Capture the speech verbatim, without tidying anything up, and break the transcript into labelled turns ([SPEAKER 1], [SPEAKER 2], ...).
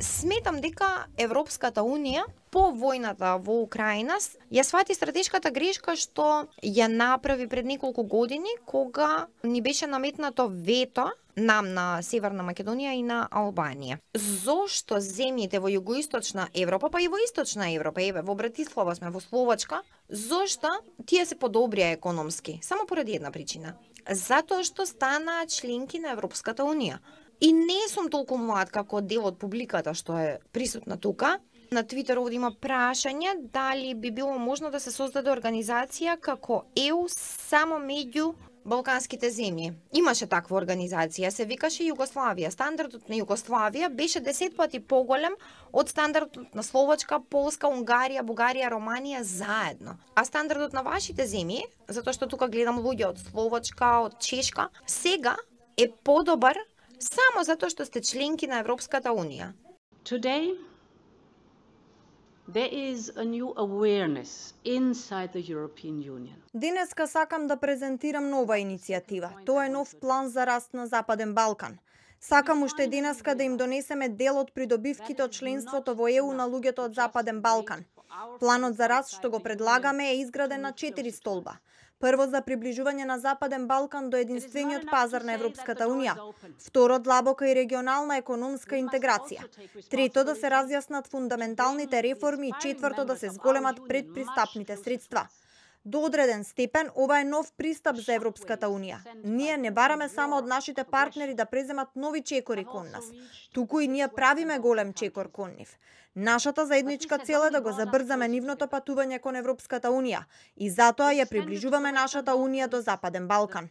[SPEAKER 1] Сметам дека Европската Унија по војната во Украина ја свати стратешката грешка што ја направи пред неколку години кога ни беше наметнато вето нам на Северна Македонија и на Албанија. Зошто земјите во југоисточна Европа, па и во источна Европа, еве во Братислава сме, во Словачка, зошто тие се подобрија економски? Само поради една причина. Затоа што станаа членки на Европската Унија. И не сум толку млад како дел од публиката што е присутна тука. На Твитер овде има прашање дали би било можно да се создаде организација како Е У само меѓу балканските земји. Имаше таква организација, се викаше Југославија. Стандардот на Југославија беше десет пати поголем од стандардот на Словачка, Полска, Унгарија, Бугарија, Романија заедно. А стандардот на вашите земји, затоа што тука гледам луѓе од Словачка, од Чешка, сега е подобар само затоа што сте членки на Европската Унија.
[SPEAKER 2] Today, there is a new awareness inside the European Union.
[SPEAKER 3] Денеска сакам да презентирам нова иницијатива. Тоа е нов план за раст на Западен Балкан. Сакам уште денеска да им донесеме дел од придобивките од членството во Е У на луѓето од Западен Балкан. Планот за раст што го предлагаме е изграден на четири столба. Прво, за приближување на Западен Балкан до единствениот пазар на Европската Унија. Второ, длабока и регионална економска интеграција. Трето, да се разјаснат фундаменталните реформи. И четврто, да се зголемат предпристапните средства. До одреден степен, ова е нов пристап за Европската Унија. Ние не бараме само од нашите партнери да преземат нови чекори кон нас, туку и ние правиме голем чекор кон нив. Нашата заедничка цел е да го забрзаме нивното патување кон Европската Унија и затоа ја приближуваме нашата Унија до Западен Балкан.